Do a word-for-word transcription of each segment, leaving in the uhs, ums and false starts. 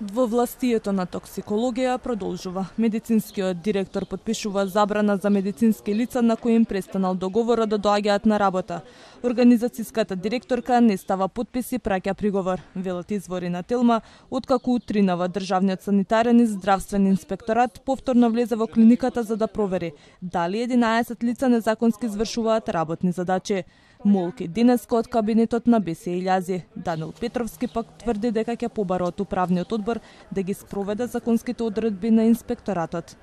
Во властието на токсикологија продолжува. Медицинскиот директор потпишува забрана за медицински лица на кои им престанал договорот да доаѓаат на работа. Организацијската директорка не става подпис и праќа приговор, велат извори на Телма, откако утринава државниот санитарен и здравствен инспекторат повторно влезе во клиниката за да провери дали единаесет лица незаконски извршуваат работни задачи. Молки денеска од кабинетот на Бесија Илјази. Данил Петровски пак тврди дека ќе побара од управниот одбор да ги спроведе законските одредби на инспекторатот.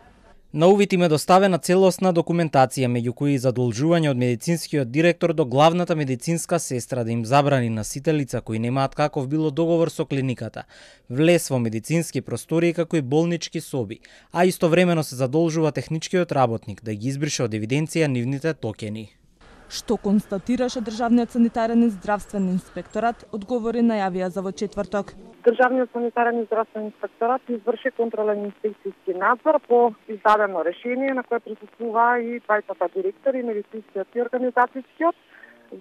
На увид им е доставена целосна документација, меѓу кои и задолжување од медицинскиот директор до главната медицинска сестра да им забрани на сите лица кои немаат каков било договор со клиниката влез во медицински простории како и болнички соби, а истовремено се задолжува техничкиот работник да ги избрише од евиденција нивните токени. Што констатираше државниот санитарен и здравствен инспекторат, одговори најавија за во четврток. Државниот санитарен и здравствен инспекторат изврши контролен инспекцијски надзор по издадено решение на кое присуствува и двајцата директори, медицинскиот и организацијскиот.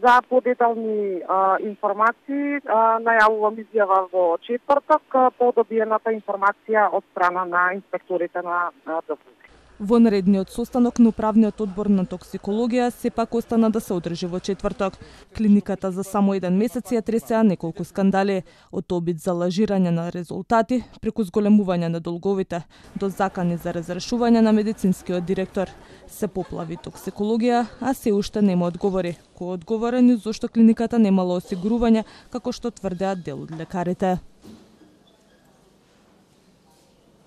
За подетални а, информации а, најавувам изјава во четврток по добиената информација од страна на инспекторите на ДСУ. Во наредниот состанок на управниот одбор на токсикологија сепак остана да се одржи во четврток. Клиниката за само еден месец ја тресеа неколку скандали, од обид за лажирање на резултати, преку зголемување на долговите, до закани за разрешување на медицинскиот директор. Се поплави токсикологија, а се уште нема одговори. Кој одговорен и зошто клиниката немала осигурување, како што тврдеат дел од лекарите.